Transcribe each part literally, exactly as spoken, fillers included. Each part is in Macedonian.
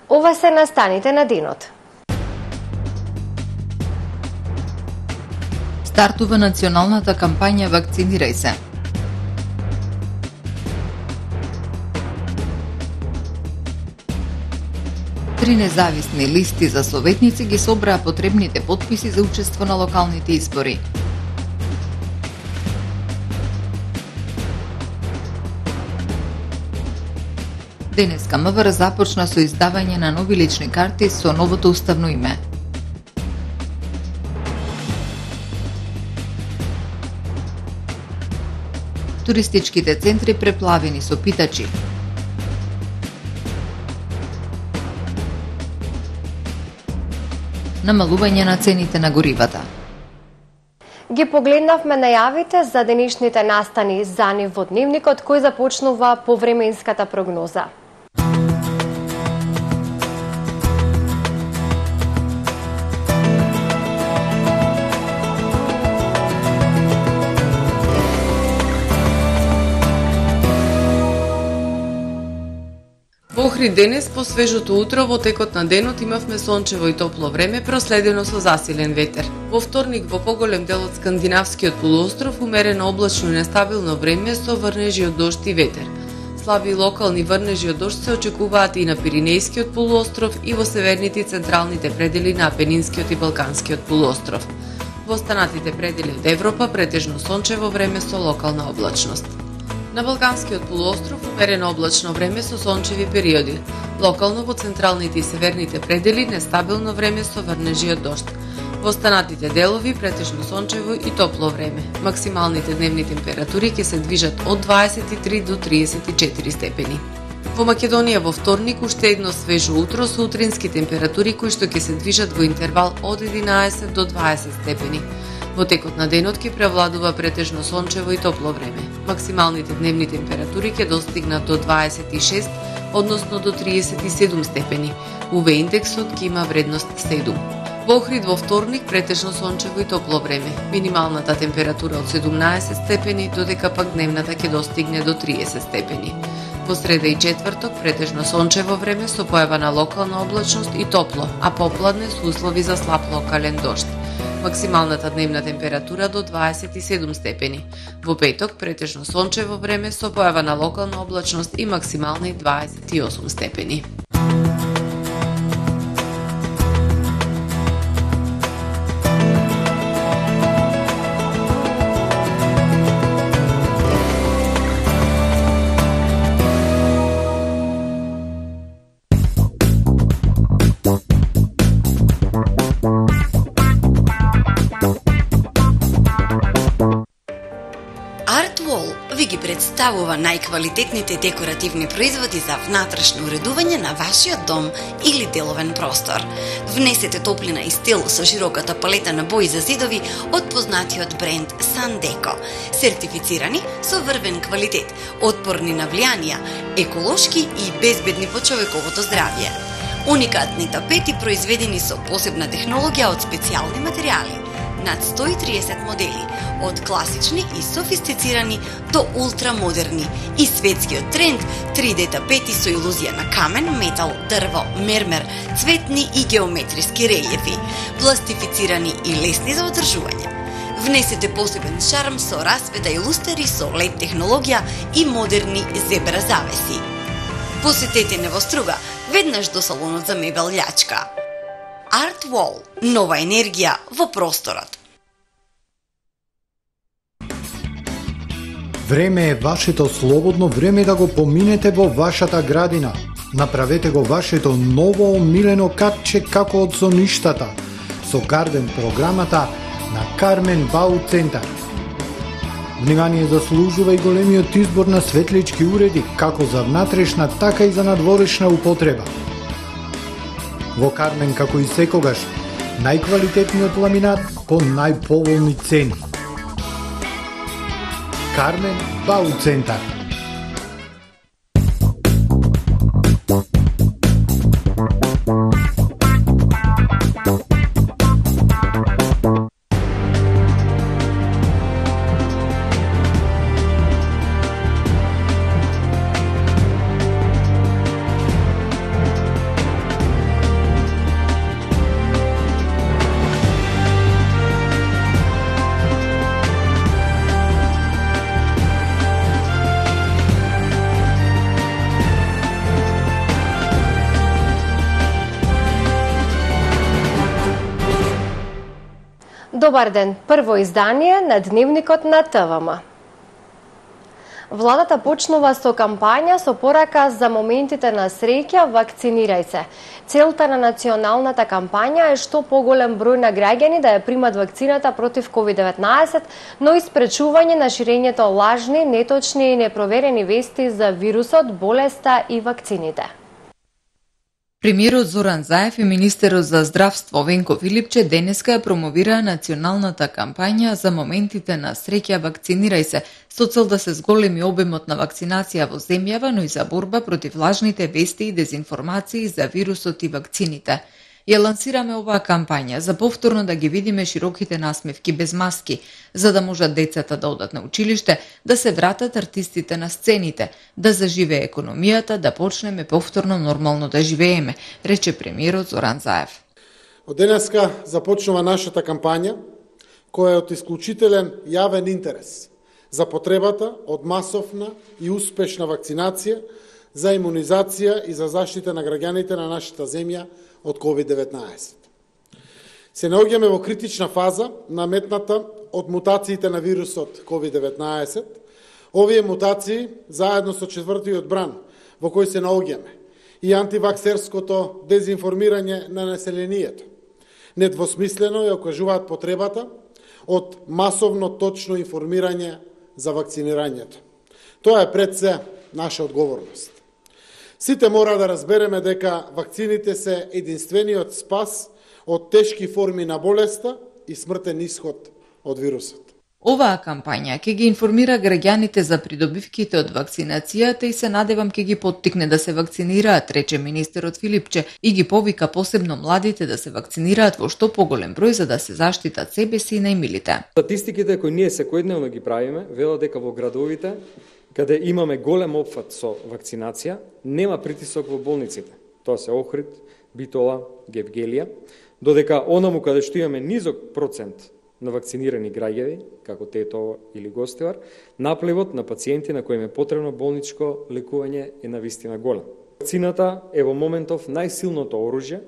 Ова се настаните на денот. Стартува националната кампања Вакцинирај се. Три независни листи за советници ги собраа потребните потписи за учество на локалните избори. Денеска МВР започна со издавање на нови лични карти со новото уставно име. Туристичките центри преплавени со питачи. Намалување на цените на горивата. Ги погледнавме најавите за денешните настани за нив во дневникот кој започнува повременската прогноза. Во Охрид денес, по свежото утро, во текот на денот имавме сончево и топло време, проследено со засилен ветер. Во вторник, во поголем дел од скандинавскиот полуостров, умерено облачно и нестабилно време со врнежи од дожд и ветер. Слаби локални врнежи од дожд се очекуваат и на Пиринејскиот полуостров и во северните и централните предели на Апенинскиот и Балканскиот полуостров. Во останатите предели од Европа претежно сончево време со локална облачност. На Балканскиот полуостров умерено облачно време со сончеви периоди. Локално во централните и северните предели нестабилно време со врнежи од дожд. Во останатите делови претежно сончево и топло време. Максималните дневни температури ќе се движат од дваесет и три до триесет и четири степени. Во Македонија во вторник уште едно свежо утро со утрински температури кои што ќе се движат во интервал од единаесет до дваесет степени. Во текот на денот ќе превладува претежно сончево и топло време. Максималните дневни температури ќе достигнат до дваесет и шест, односно до триесет и седум степени. У ве индексот ќе има вредност седум. Во Охрид во вторник претежно сончево и топло време. Минималната температура од седумнаесет степени, додека пак дневната ќе достигне до триесет степени. Во среда и четврток претежно сончево време со појава на локална облачност и топло, а попладне со услови за слаб локален дожд. Максималната дневна температура до дваесет и седум степени. Во петок претежно сончево време со појава на локална облачност и максимални дваесет и осум степени. Ви представува најквалитетните декоративни производи за внатрешно уредување на вашиот дом или деловен простор. Внесете топлина и стил со широката палета на бои за зидови од познатиот бренд Санdeco. Сертифицирани со врвен квалитет, отпорни на влијанија, еколошки и безбедни по човековото здравје. Уникатни тапети произведени со посебна технологија од специјални материјали. Над сто и триесет модели, од класични и софистицирани до ултрамодерни, и светскиот тренд три де тапети со илузија на камен, метал, дрво, мермер, цветни и геометриски релјефи, пластифицирани и лесни за одржување. Внесете посебен шарм со расвета и лустери со лед технологија и модерни зебра завеси. Посетете Невоструга, веднаш до салонот за мебел Љачка. Art Wall – нова енергија во просторот. Време е вашето слободно време да го поминете во вашата градина. Направете го вашето ново омилено катче како од соништата со Гарден програмата на Кармен Бау Центар. Внимание заслужува и големиот избор на светлички уреди, како за внатрешна, така и за надворешна употреба. Во Кармен, како и секогаш, најквалитетниот ламинат по најповолни цени. Кармен Бау Центар. Добар ден, прво издание на Дневникот на ТВМ. Владата почнува со кампања со порака за моментите на среќа "Вакцинирај се". Целта на националната кампања е што поголем број на граѓани да ја примат вакцината против ковид деветнаесет, но и спречување на ширењето лажни, неточни и непроверени вести за вирусот, болеста и вакцините. Премиерот Зоран Заев и министерот за здравство Венко Филипче денеска ја промовираа националната кампања за моментите на среќа "Вакцинирај се", со цел да се зголеми обемот на вакцинација во земјава, но и за борба против лажните вести и дезинформации за вирусот и вакцините. Ја лансираме оваа кампања за повторно да ги видиме широките насмевки без маски, за да можат децата да одат на училиште, да се вратат артистите на сцените, да заживее економијата, да почнеме повторно нормално да живееме, рече премиерот Зоран Заев. Од денеска започнува нашата кампања, која е од исклучителен јавен интерес за потребата од масовна и успешна вакцинација, за имунизација и за заштита на граѓаните на нашата земја од ковид деветнаесет. Се наоѓаме во критична фаза наметната од мутациите на вирусот ковид деветнаесет. Овие мутации, заедно со четвртиот бран во кој се наоѓаме, и антиваксерското дезинформирање на населението, недвосмислено ја окажуваат потребата од масовно точно информирање за вакцинирањето. Тоа е пред се наша одговорност. Сите мора да разбереме дека вакцините се единствениот спас од тешки форми на болеста и смртен исход од вирусот. Оваа кампања ќе ги информира граѓаните за придобивките од вакцинацијата и се надевам ќе ги поттикне да се вакцинираат, рече министерот Филипче, и ги повика посебно младите да се вакцинираат во што поголем број за да се заштитат себе си и најмилите. Статистиките кои ние секојдневно ги правиме велат дека во градовите каде имаме голем опфат со вакцинација, нема притисок во болниците. Тоа се Охрид, Битола, Гевгелија, додека онаму каде што имаме низок процент на вакцинирани граѓани, како Тетово или Гостивар, напливот на пациенти на кои им е потребно болничко лекување е навистина голем. Вакцината е во моментов најсилното оружје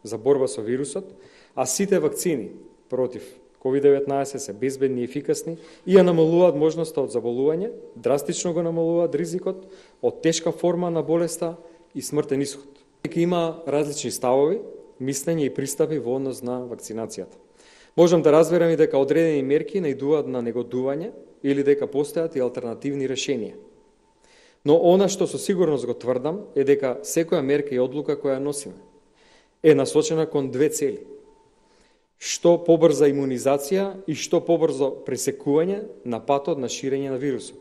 за борба со вирусот, а сите вакцини против ковид деветнаесет се безбедни и ефикасни и ја намалуваат можноста од заболување, драстично го намалуваат ризикот од тешка форма на болеста и смртен исход. Дека има различни ставови, мислење и пристапи во однос на вакцинацијата. Можам да разберам и дека одредени мерки наидуваат на негодување или дека постојат и алтернативни решенија. Но она што со сигурност го тврдам е дека секоја мерка и одлука која носиме е насочена кон две цели. Што побрза имунизација и што побрзо пресекување на патот на ширење на вирусот.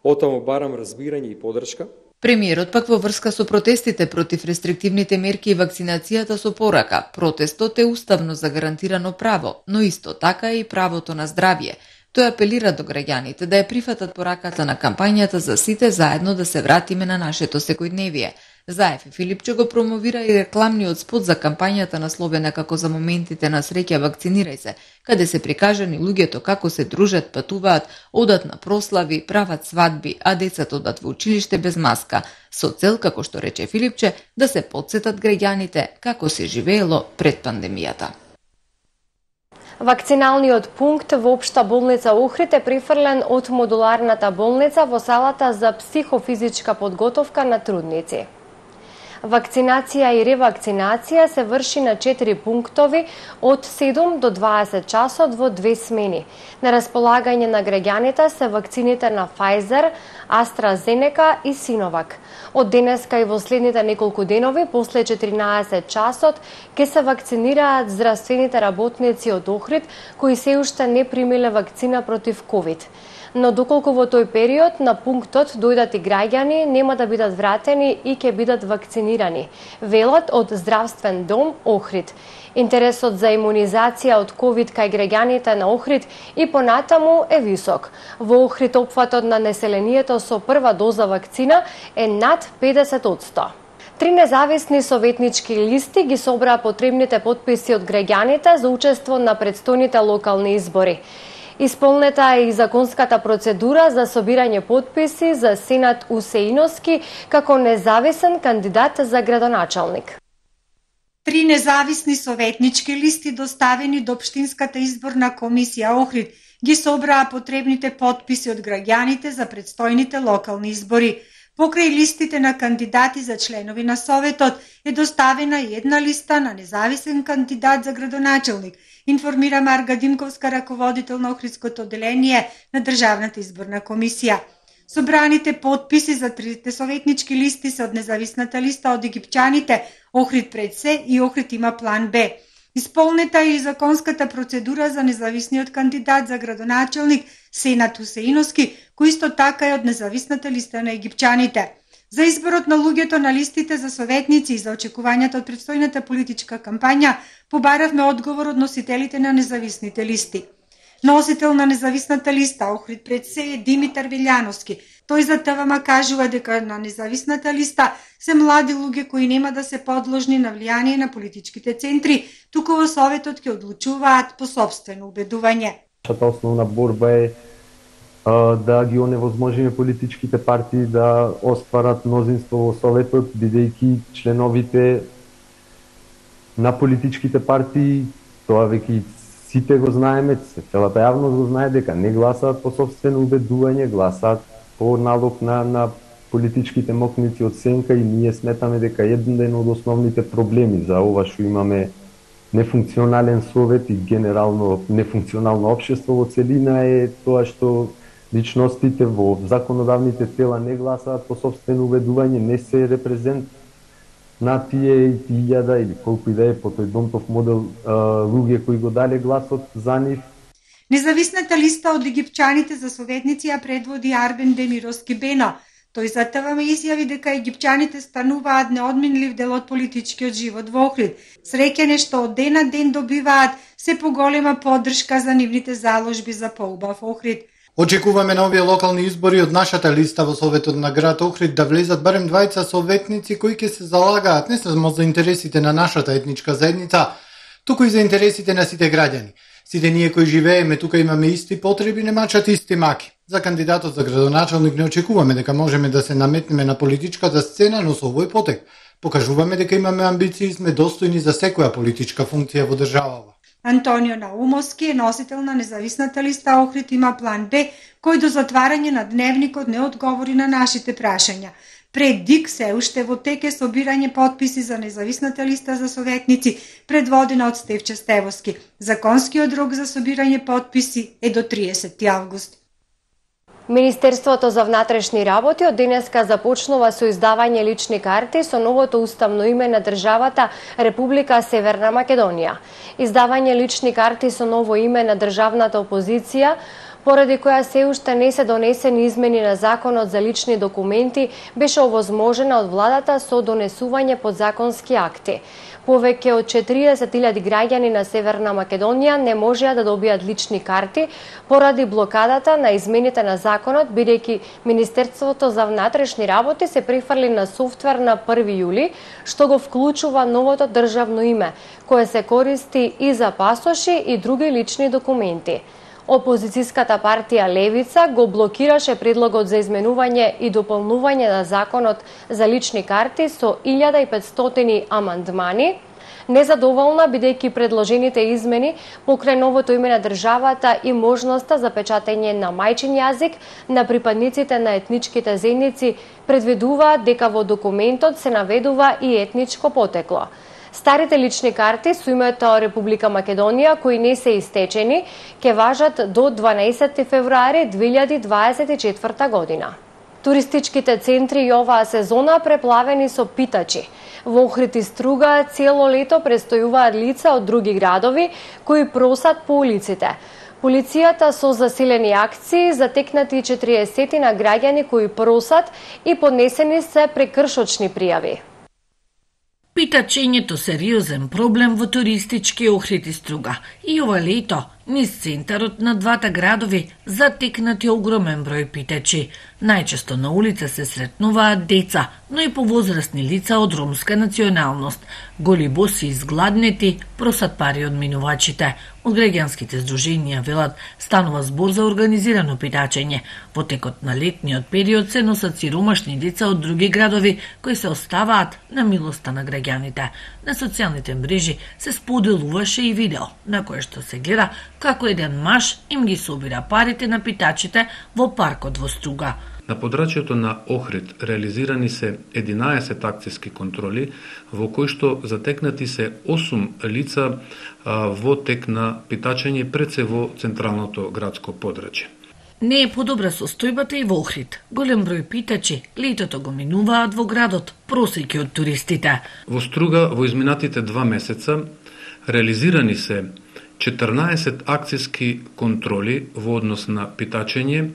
Отаму барам разбирање и поддршка. Премиерот пак во врска со протестите против рестриктивните мерки и вакцинацијата со порака. Протестот е уставно загарантирано право, но исто така и правото на здравје. Тој апелира до граѓаните да ја прифатат пораката на кампањата за сите заедно да се вратиме на нашето секојдневие. Заев и Филипче го промовира и рекламниот спот за кампањата насловена како "За моментите на среќа вакцинирај се", каде се прикажани луѓето како се дружат, патуваат, одат на прослави, прават свадби, а децата одат во училиште без маска, со цел, како што рече Филипче, да се потсетат граѓаните како се живеело пред пандемијата. Вакциналниот пункт во Општа болница Охрид е префрлен од модуларната болница во салата за психофизичка подготовка на трудници. Вакцинација и ревакцинација се врши на четири пунктови од седум до дваесет часот во две смени. На располагање на граѓаните се вакцините на Pfizer, AstraZeneca и Sinovac. Од денеска и во следните неколку денови, после четиринаесет часот, ќе се вакцинираат здравствените работници од Охрид кои се уште не примиле вакцина против ковид. Но доколку во тој период на пунктот дојдат и граѓани, нема да бидат вратени и ќе бидат вакцинирани, велат од Здравствен дом Охрид. Интересот за имунизација од ковид кај граѓаните на Охрид и понатаму е висок. Во Охрид опфатот на населението со прва доза вакцина е над педесет одсто. Три независни советнички листи ги собраа потребните потписи од граѓаните за учество на претстојните локални избори. Исполнета е и законската процедура за собирање потписи за Сенат Усеиновски како независен кандидат за градоначалник. Три независни советнички листи доставени до Општинската изборна комисија Охрид ги собраа потребните потписи од граѓаните за предстојните локални избори. Покрај листите на кандидати за членови на Советот е доставена и една листа на независен кандидат за градоначелник, информира Марга Димковска, раководител на Охридското одделение на Државната изборна комисија. Собраните потписи за трите советнички листи се од независната листа од египчаните Охрид пред се и Охрид има план Б. Исполнета е и законската процедура за независниот кандидат за градоначелник Сенат Хусеиновски, кој исто така е од независната листа на египчаните. За изборот на луѓето на листите за советници и за очекувањата од предстојната политичка кампања побаравме одговор од носителите на независните листи. Носител на независната листа Охрид пред се е Димитар Вилјановски. Тој за ТВМ кажува дека на независната листа се млади луѓе кои нема да се подложни на влијание на политичките центри, туку во Советот ќе одлучуваат по сопствено убедување. Нашата основна борба е а, да ги оневозможиме политичките партии да остварат мнозинство во Советот, бидејќи членовите на политичките партии, тоа веќе сите го знаеме, целата јавност го знае дека не гласаат по сопствено убедување, гласаат по налог на, на политичките мокници од сенка, и ние сметаме дека еден од основните проблеми за ова што имаме нефункционален совет и генерално нефункционално општество во целина е тоа што личностите во законодавните тела не гласаат по сопствено убедување, не се репрезент на тие илјада или колку и да е по тој Донтов модел луѓе кои го дале гласот за нив. Независната листа од египчаните за советници ја предводи Арбен Демировски Бено. Тој за ТВМ изјави дека египчаните стануваат неодменлив дел од политичкиот живот во Охрид. Среќен е што од ден на ден добиваат се поголема поддршка за нивните заложби за поубав Охрид. Очекуваме на овие локални избори од нашата листа во Советот на град Охрид да влезат барем двајца советници кои ќе се залагаат не само за интересите на нашата етничка заедница, туку и за интересите на сите граѓани. Сите ние кои живееме тука имаме исти потреби, не мачат исти маки. За кандидатот за градоначелник не очекуваме дека можеме да се наметнеме на политичката сцена, но со овој потек покажуваме дека имаме амбиции и сме достојни за секоја политичка функција во државава. Антонио Наумовски е носител на независната листа Охрид има план Б, кој до затварање на дневникот не одговори на нашите прашања. Пред ДИК се уште во тек е собирање потписи за независната листа за советници, предводена од Стевче Стевоски. Законскиот рок за собирање потписи е до триесети август. Министерството за внатрешни работи од денеска започнува со издавање лични карти со новото уставно име на државата Република Северна Македонија. Издавање лични карти со ново име на државната опозиција, поради која се уште не се донесени измени на Законот за лични документи, беше овозможена од владата со донесување подзаконски акти. Повеќе од четириесет илјади граѓани на Северна Македонија не можеа да добијат лични карти поради блокадата на измените на законот, бидејќи Министерството за внатрешни работи се префрли на софтвер на први јули, што го вклучува новото државно име, кое се користи и за пасоши и други лични документи. Опозицијската партија Левица го блокираше предлогот за изменување и дополнување на законот за лични карти со илјада и петстотини амандмани, незадоволна бидејќи предложените измени покрај новото име на државата и можноста за печатење на мајчин јазик на припадниците на етничките заедници предвидуваат дека во документот се наведува и етничко потекло. Старите лични карти со името Република Македонија, кои не се истечени, ќе важат до дванаесети февруари две илјади дваесет и четврта година. Туристичките центри и оваа сезона преплавени со питачи. Во Охрид и Струга цело лето престојуваат лица од други градови кои просат по улиците. Полицијата со засилени акции затекнати четириесет на граѓани кои просат и поднесени се прекршочни пријави. Питачењето сериозен проблем во туристички Охрид и Струга. И ова лето Низ центарот на двата градови затекнати огромен број питачи. Најчесто на улица се сретнуваат деца, но и повозрасни лица од ромска националност. Голи боси изгладнети просат пари од минувачите. Од граѓанските здруженија велат станува збор за организирано питачење. Во текот на летниот период се носат сиромашни деца од други градови кои се оставаат на милоста на граѓаните. На социјалните мрежи се споделуваше и видео на кое што се гледа како еден маж им ги собира парите на питачите во паркот во Струга. На подрачјето на Охрид реализирани се единаесет акцијски контроли, во кои што затекнати се осум лица а, во тек на питачење пред се во централното градско подрачје. Не е подобра состојбата и во Охрид. Голем број питачи летото го минуваат во градот, просејќи од туристите. Во Струга во изминатите два месеца реализирани се четрнаесет акцијски контроли во однос на питачење,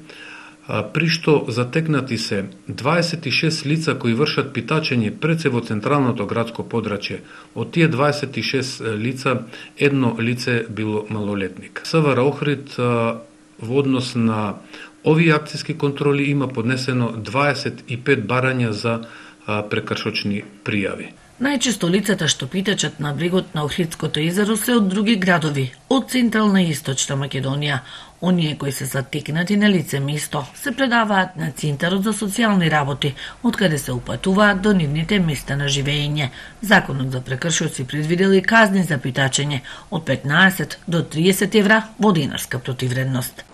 при што затекнати се дваесет и шест лица кои вршат питачење пред се во централното градско подрачје. Од тие дваесет и шест лица, едно лице било малолетник. СВР Охрид во однос на овие акцијски контроли има поднесено дваесет и пет барања за прекршочни пријави. Најчесто лицата што питачат на брегот на Охридското езеро се од други градови, од Централна и Источна Македонија. Оние кои се затекнати на лице место се предаваат на Центарот за социјални работи, откаде се упатуваат до нивните места на живење. Законот за прекршоци предвидел и казни за питачење од петнаесет до триесет евра во динарска противвредност.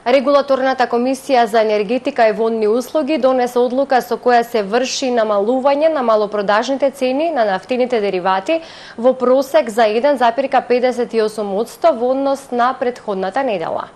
Регулаторната комисија за енергетика и водни услуги донесе одлука со која се врши намалување на малопродажните цени на нафтините деривати во просек за еден запирка педесет и осум одсто во однос на претходната недела.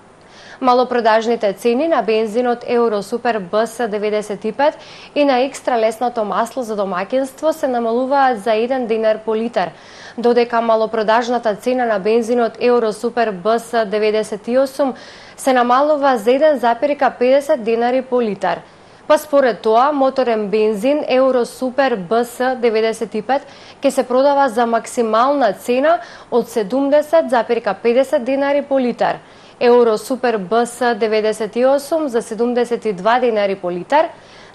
Малопродажните цени на бензинот Евро Супер Б С деветдесет и пет и на екстра лесното масло за домаќинство се намалуваат за еден динар по литар, додека малопродажната цена на бензинот Евро Супер Б С деветдесет и осум се намалува за еден запирка педесет динари по литар. Па според тоа, моторен бензин Евро Супер Б С деветдесет и пет ќе се продава за максимална цена од седумдесет запирка педесет динари по литар. Евро Супер Б С деветдесет и осум за седумдесет и два динари по литар,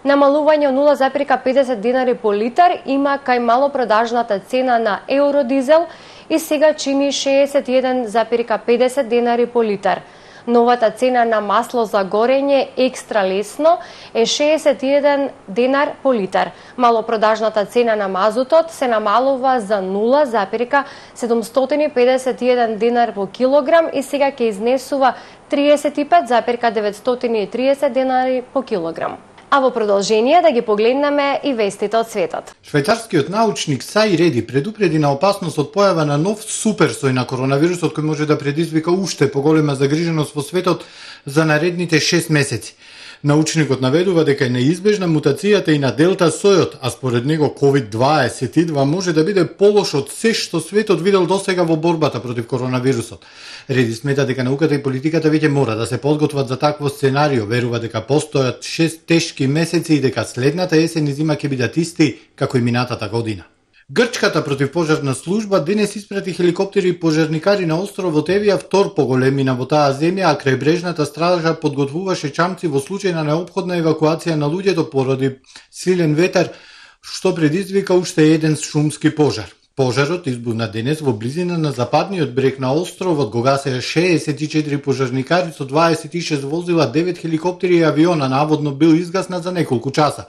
намалување од нула запирка педесет динари по литар има кај малопродажната цена на Евродизел и сега чини шеесет и еден запирка педесет динари по литар. Новата цена на масло за горење екстра лесно е шеесет и еден динар по литар. Малопродажната цена на мазутот се намалува за нула запирка седумстотини и педесет и еден динар по килограм и сега ќе изнесува триесет и пет запирка деветстотини и триесет динари по килограм. А во продолжение да ги погледнеме и вестите од светот. Швајцарскиот научник Саи Реди предупреди на опасност од појава на нов суперсој на коронавирусот кој може да предизвика уште поголема загриженост во светот за наредните шест месеци. Научникот наведува дека е неизбежна мутацијата и на Делта сојот, а според него ковид дваесет и два може да биде полош од се што светот видел досега во борбата против коронавирусот. Реди смета дека науката и политиката веќе мора да се подготват за такво сценарио, верува дека постојат шест тешки месеци и дека следната есен и зима ќе бидат исти како и минатата година. Грчката противпожарна служба денес испрати хеликоптери и пожарникари на островот Евија, втор по големина во таа земја, а крајбрежната стража подготвуваше чамци во случај на неопходна евакуација на луѓето поради силен ветер, што предизвика уште еден шумски пожар. Пожарот избухна денес во близина на западниот брег на островот, го гасеа шеесет и четири пожарникари со дваесет и шест возила, девет хеликоптери и авиона, наводно бил изгаснат за неколку часа.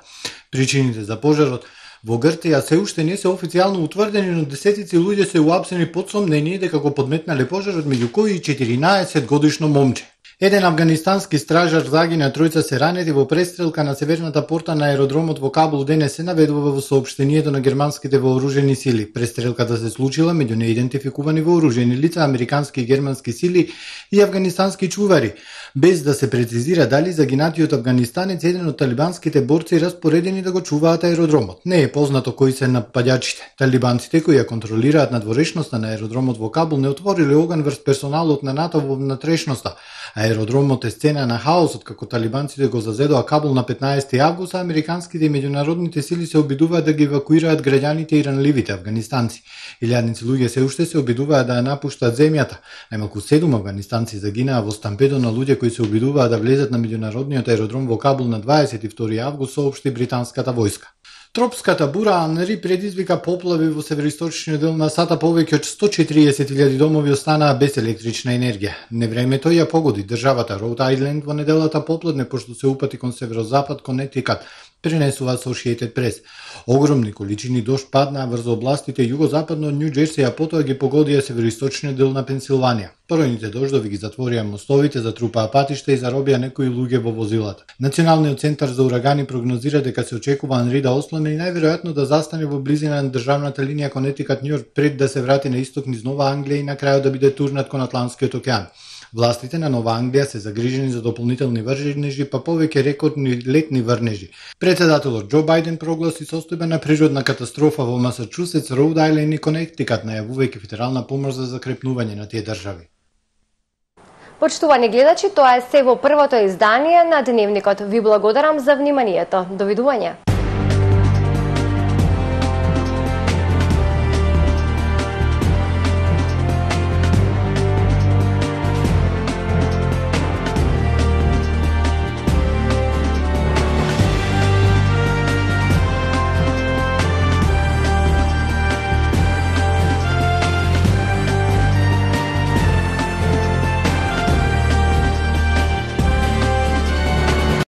Причините за пожарот во Грција се уште не се официјално утврдени, но десетици луѓе се уапсени под сомнение дека го подметнале пожарот, меѓу кои и четиринаесет годишно момче. Еден афганистански стражар загина, тројца се ранети во престрелка на северната порта на аеродромот во Кабул, денес се наведува во соопштението на германските вооружени сили. Престрелката се случила меѓу неидентификувани вооружени лица, американски и германски сили и афганистански чувари, без да се прецизира дали загинатиот афганистанец еден од талибанските борци распоредени да го чуваат аеродромот. Не е познато кои се нападачите. Талибанците кои ја контролираат надворешноста на аеродромот во Кабул не отвориле оган врз персоналот на НАТО во внатрешноста, а Аеродромот е сцена на хаосот како талибанците го зазедоа Кабул на петнаесети август, а американските и меѓународните сили се обидуваат да ги евакуираат граѓаните и ранливите афганистанци. Илјадници луѓе се уште се обидуваат да ја напуштат земјата. Најмалку седум афганистанци загинаа во стампедо на луѓе кои се обидуваат да влезат на меѓународниот аеродром во Кабул на дваесет и втори август, соопшти британската војска. Тропската бура Анри предизвика поплави во североисточниот дел на САД, повеќе од сто и четириесет илјади домови останаа без електрична енергија. Невремето ја погоди државата Роуд Ајленд во неделата попладне, пошто се упати кон северозапад Конетикат, пренесува Associated Press. Огромни количини дожд паднаа врз областите југозападно од Њу Џерси, а потоа ги погодија североисточниот дел на Пенсилванија. Поројните дождови ги затворија мостовите, затрупаа патишта и заробија некои луѓе во возилата. Националниот центар за урагани прогнозира дека се очекува Анри да ослабне и најверојатно да застане во близина на државната линија Конетикат Њујорк пред да се врати на исток низ Нова Англија и на крајот да биде турнат кон Атлантскиот океан. Властите на Нова Англија се загрижени за дополнителни врнежи, па повеќе рекордни летни врнежи. Претседателот Џо Бајден прогласи состојба на природна катастрофа во Масачусетс, Роуд Ајленд и Конетикат, најавувајќи федерална помош за закрепнување на тие држави. Почитувани гледачи, тоа е се во првото издание на Дневникот. Ви благодарам за вниманието. Довидување.